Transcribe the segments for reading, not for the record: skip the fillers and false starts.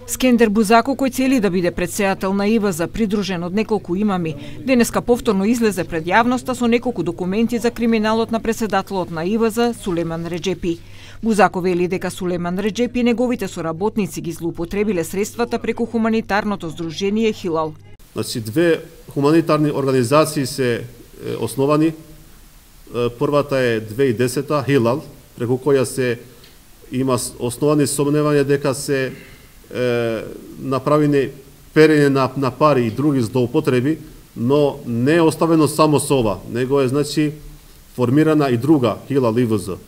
Скендер Бузако, кој цели да биде претседател на ИВЗ, придружен од неколку имами, денеска повторно излезе пред јавноста со неколку документи за криминалот на претседателот на ИВЗ Сулеман Реджепи. Бузако вели дека Сулеман Реджепи и неговите соработници ги злоупотребиле средствата преку хуманитарното здружение Хилал. Значи, две хуманитарни организации се основани. Првата е 2010-та, Хилал, преку која се има основани сомневања дека се направени перење на пари и други злоупотреби, но не е оставено само со ова, него е значи формирана и друга Хилал ИВЗ.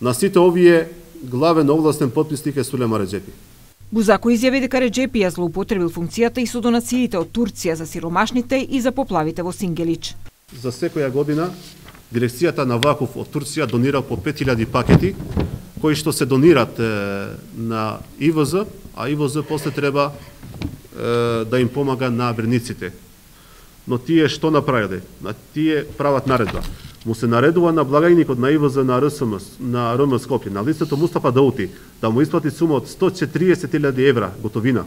На сите овие главен областен потписник е Сулеман Реджепи. Бузако изјави дека Реджепи ја злоупотребил функцијата и со донациите од Турција за сиромашните и за поплавите во Сингелич. За секоја година дирекцијата на Вакуф од Турција донира по 5000 пакети кои што се донират на ИВЗ, а ИВЗ после треба да им помага на верниците. Но тие што направиле? Тие прават наредба. Му се наредува на благајникот на ИВЗ на РМ Скопје, на лицето Мустафа Даути, да му исплати сума од 140.000 евра готовина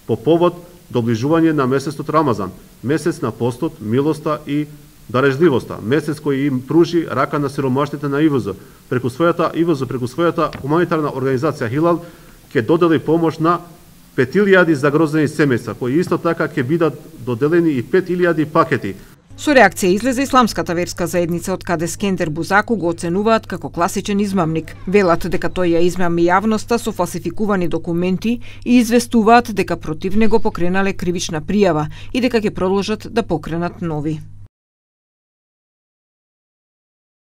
по повод доближување на месецот Рамазан, месец на постот, милоста и дарежливоста, месец кој им пружи рака на сиромашните на ИВЗ. Преку својата хуманитарна организација Хилал ќе додели помош на 5000 загрозени семејства, кои исто така ќе бидат доделени и 5000 пакети. Со реакција излезе исламската верска заедница, од каде Скендер Бузако го оценуваат како класичен измамник. Велат дека тој ја измами јавноста со фалсификувани документи и известуваат дека против него покренале кривична пријава и дека ќе продолжат да покренат нови.